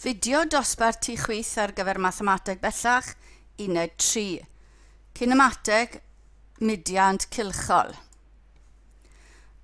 Fideo dosbarth tu chwith ar gyfer mathemateg bellach, uned 3. Cinemateg, mudiant cylchol.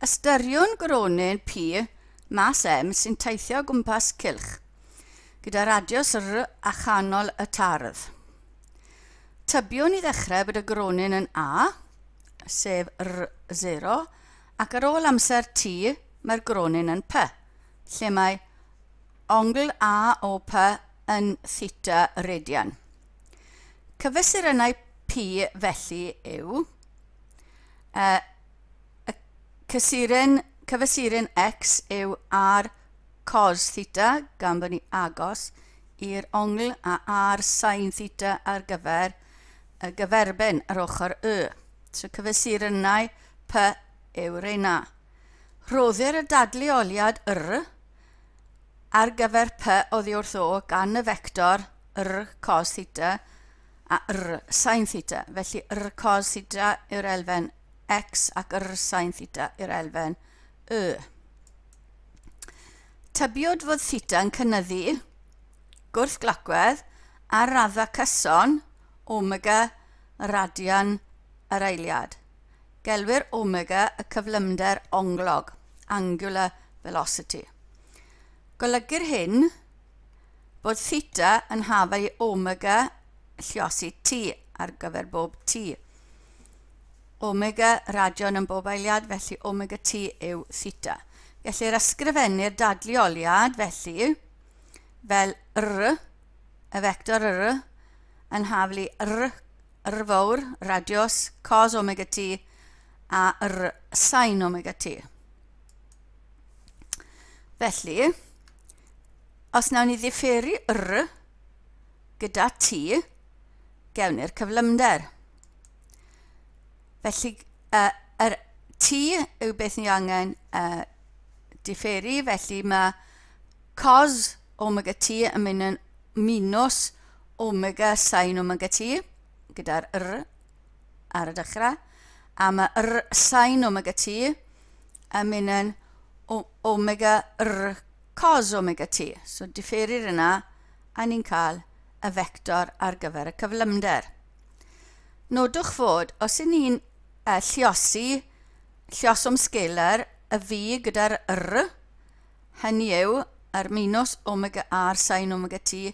Ystyriwn gronyn P mas M sy'n teithio o gwmpas cylch, gyda radiws R a chanol y tardd. Tybiwn i ddechrau bod y gronyn yn A, sef R0, ac ar ôl amser T mae'r gronyn yn P, lle mae ongl A o P yn theta radian. Cyfesurynnau P felly yw y cysuren, cyfesuryn X yw R cos theta, gan bod ni agos i'r ongl, a R sin theta ar gyfer y gyferbyn ar ochr Y. So cyfesurynnau P yw reina. Rhoddir y dadleoliad R ar gyfer P oddi wrth O gan y fector R cos theta a R sin theta. Felly R cos theta yw'r elfen X ac R sin theta yw'r elfen Y. Tybiwyd fod theta yn cynyddu gwrthglocwedd ar raddfa cyson omega radian yr eiliad. Gelwir omega y cyflymder onglog, angular velocity. Golygir hyn bod theta yn hafau i omega lliosi t ar gyfer bob t. Omega radion yn bob eiliad, felly omega t yw theta. Gellir ysgrifennu'r dadleoliad felly fel r, y fector r, yn haflu r R fawr, radios, cos omega t a R sin omega t. Felly, os nawn ni ddifferu R gyda t, gewn ni'r cyflymder. Felly, yr t yw beth ni angen diferu, felly mae cos omega t yn mynd yn minus omega sin omega t, gyda'r r ar y dechrau, a mae r sin omega t yn mynd yn omega r cos omega t. So diferir yna, a ni'n cael y fector ar gyfer y cyflymder. Nodwch fod, os y'n ni'n lliosi llioswm scalar y v gyda'r r, hynny yw, yr minus omega r sin omega t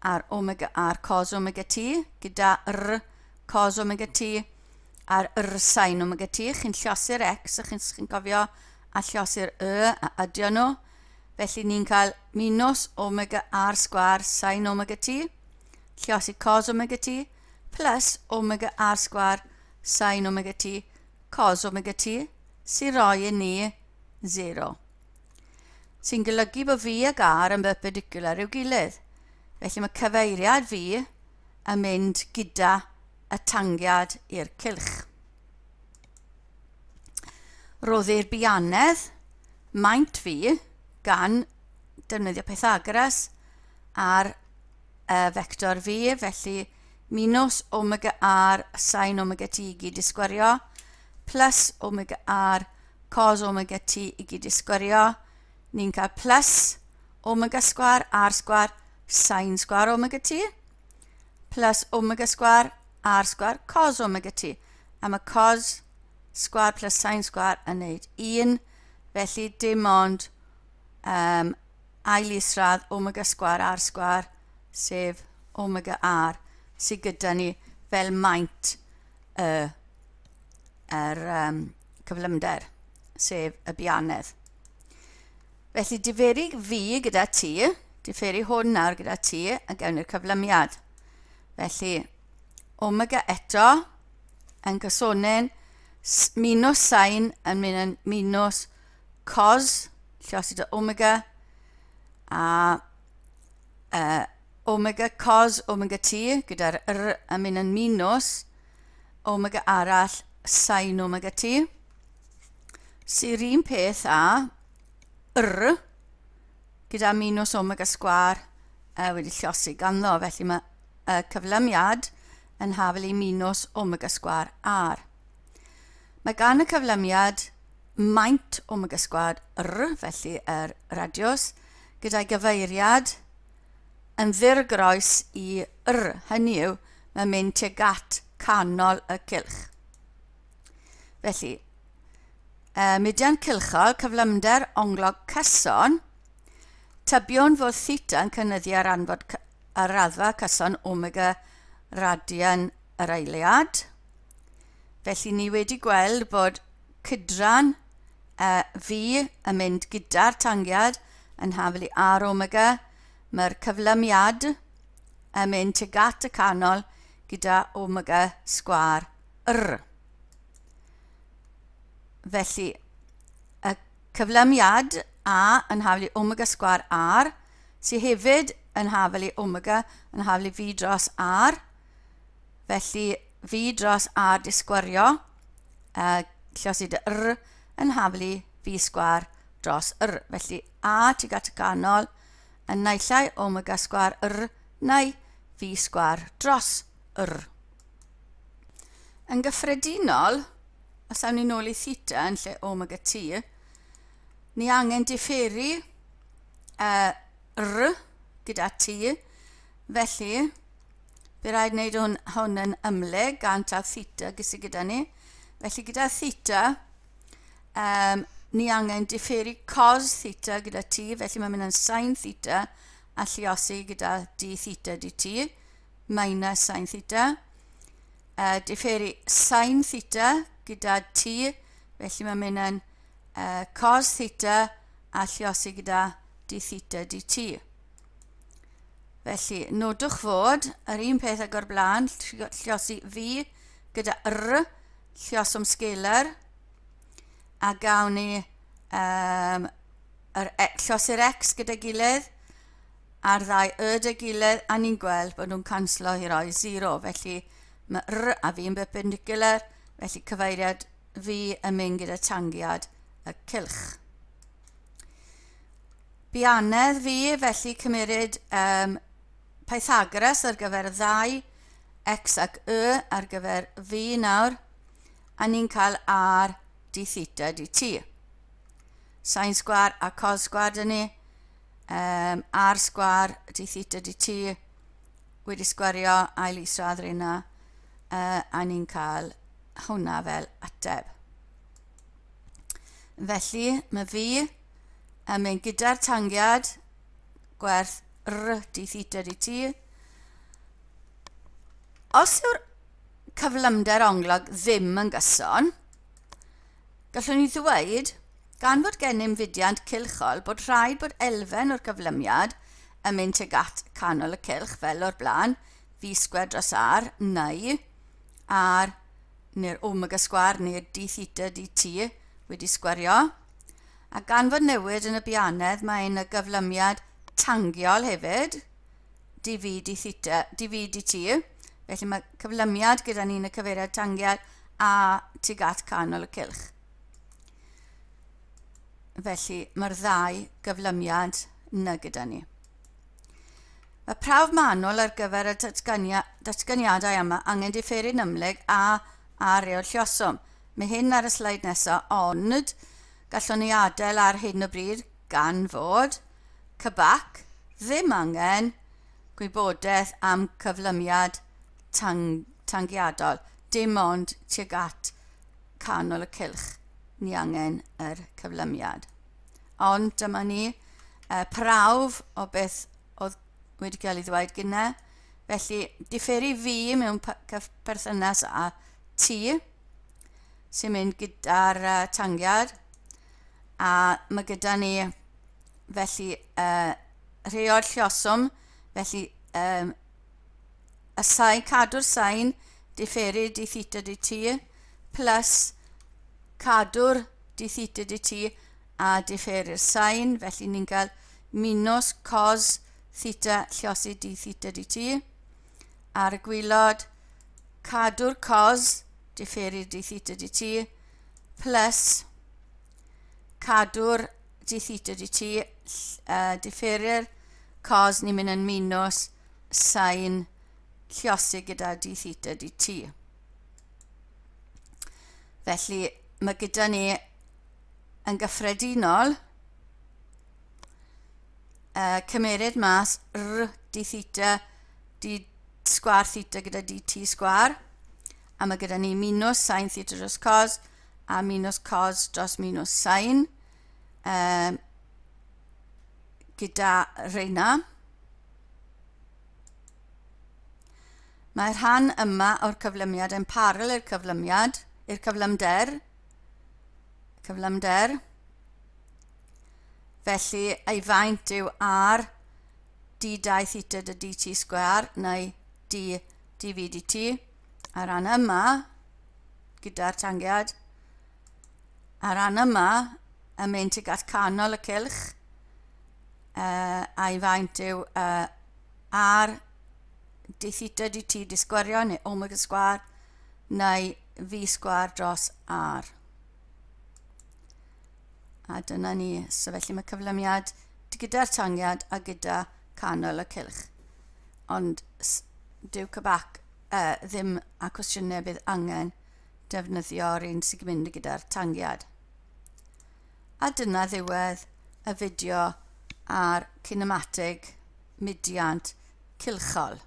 a'r omega r cos omega t gyda r cos omega t a'r r sin omega t. Chi'n lliosi'r x, a chi'n chi cofio, a lliosi'r y, a adio nhw. Felly ni'n cael minus omega r sgwar sin omega t, lliosi cos omega t, plus omega r sgwar sin omega t, cos omega t, sy'n rhoi i ni 0. Sy'n golygu bod V ag R yn perpendicular i'w gilydd. Felly mae cyfeiriad V yn mynd gyda y tangiad i'r cylch. Rhoddir bianedd maint V gan defnyddio Pythagoras ar y fector V, felly minus omega R sin omega t i gyd i sgwario, plus omega R cos omega t i gyd i sgwario, ni'n cael plus omega sgwar r sgwar sin sgwar omega t, plus omega sgwar r sgwar cos omega t. A mae cos sgwar plus sin sgwar yn neud 1, felly dim ond ail isradd omega sgwar r sgwar, sef omega r, sydd gyda ni fel maint y cyflymder, sef y bianedd. Felly diferu V gyda T, diferu hwn nawr gyda T, a gewn ni'r cyflymiad. Felly, omega eto yn cysonyn minus sin yn mynd yn minus cos, lliosi dy omega, a omega cos omega t gyda'r r yn mynd yn minus omega arall sin omega t, sy'r un peth â r gyda minus omega sgwar wedi lliosi ganddo. Felly mae y cyflymiad yn hafel i minus omega sgwar r. Mae gan y cyflymiad maint omega sgwar r, felly yr radius, gyda'i gyfeiriad yn ddirgroes i R, hynny yw, mae'n mynd tuag at canol y cylch. Felly, mudiant cylchol, cyflymder onglog cyson, tybiwn fod theta yn cynyddu ar, anfod, ar raddfa cyson omega radian yr eiliad. Felly ni wedi gweld bod cydran V yn mynd gyda'r tangiad yn haflu R omega. Mae'r cyflymiad yn mynd tuag at y canol gyda omega sgwâr R. Felly, y cyflymiad A yn haflu omega sgwâr R, sydd hefyd yn haflu omega yn haflu V dros R. Felly, V dros R disgwario, lluosi dy R yn haflu V sgwâr dros R. Felly, A tuag at y canol yn naill ai omega sgwâr R neu V sgwâr dros R. Yn gyffredinol, os awn ni nôl i theta yn lle omega t, ni angen diferu R gyda t, felly bydd rhaid wneud hwn, hwn yn ymlyg gan taw theta gysi gyda ni. Felly gyda theta, ni angen diferu cos theta gyda t, felly mae'n mynd yn sin theta a lluosi gyda d theta dt minus sin theta. Diferu sin theta gyda t, felly mae'n mynd yn cos theta a lluosi gyda d theta dt. Felly, nodwch fod yr un peth ag o'r blaen, lluosi v gyda r, lluoswm scalar, a gawn ni yr, e, lluosi'r x gyda gilydd, a'r ddau y dy gilydd, a ni'n gweld bod nhw'n canslo i roi 0. Felly mae r a v yn perpendicular, felly cyfeiriad v yn mynd gyda tangiad y cylch. Bianedd fi, felly cymeryd Pythagoras ar gyfer y ddau, x ac y ar gyfer v nawr, a ni'n cael r d theta dt. Sin sgwar a cos sgwar dyn ni, r sgwar d theta dt wedi sgwario ail isradd rheina, a ni'n cael hwnna fel ateb. Felly, mae fi yn mynd gyda'r tangiad gwerth r d theta dt. Os yw'r cyflymder onglog ddim yn gyson, gallwn ni ddweud, gan fod gennym fudiant cylchol, bod rhaid bod elfen o'r cyflymiad yn mynd tuag at canol y cylch fel o'r blaen, v sgwâr dros r, neu r neu'r omega sgwâr neu'r d theta dt wedi sgwario. A gan fod newid yn y bianedd, mae yna gyflymiad tangiol hefyd, dv d theta, dv dt. Felly mae cyflymiad gyda ni yn y cyfeiriad tangiad a tuag at canol y cylch. Felly mae'r ddau gyflymiad yna gyda ni. Mae prawf manwl ar gyfer y datganiadau yma angen diferu'n ymhlyg a ar reol lluoswm. Mae hyn ar y sleid nesaf, ond gallwn ni adael ar hyn o bryd gan fod CBAC ddim angen gwybodaeth am cyflymiad tangiadol, dim ond tuag at canol y cylch ni angen yr cyflymiad. Ond dyma ni prawf o beth oedd wedi cael ei ddweud gyda. Felly, diferu fi mewn perthynas â T sy'n mynd gyda'r tangiad, a mae gyda ni felly rheol lluoswm, felly y sain, cadw'r sain diferu d theta dt plus cadw'r d theta dt a diferu'r sain, felly ni'n cael minus cos theta lluosi d theta dt. Ar y gwaelod, cadw'r cos diferu d theta dt plus cadw'r d theta dt, diferu'r cos, ni'n mynd yn minus sain lluosi gyda d theta dt. Felly mae gyda ni yn gyffredinol cymeryd mas r d theta d sgwar theta gyda dt sgwar. A mae gyda ni minus sin theta dros cos a minus cos dros minus sin gyda reina. Mae'r rhan yma o'r cyflymiad yn parallel i'r cyflymiad, i'r cyflymder. Cyflymder. Felly, ei faint yw r d2 theta dy dt sgwar neu d dv dt. A rhan yma, gyda'r tangiad, a rhan yma yn mynd tuag at canol y cylch, a'i faint yw r d theta dt d sgwario neu omega sgwar neu v sgwar dros r. A dyna ni. So felly mae cyflymiad gyda'r tangiad a gyda canol y cylch. Ond dyw CBAC ddim a cwestiynau bydd angen defnyddio'r un sy'n mynd gyda'r tangiad. A dyna ddiwedd y fideo ar cinematig mudiant cylchol.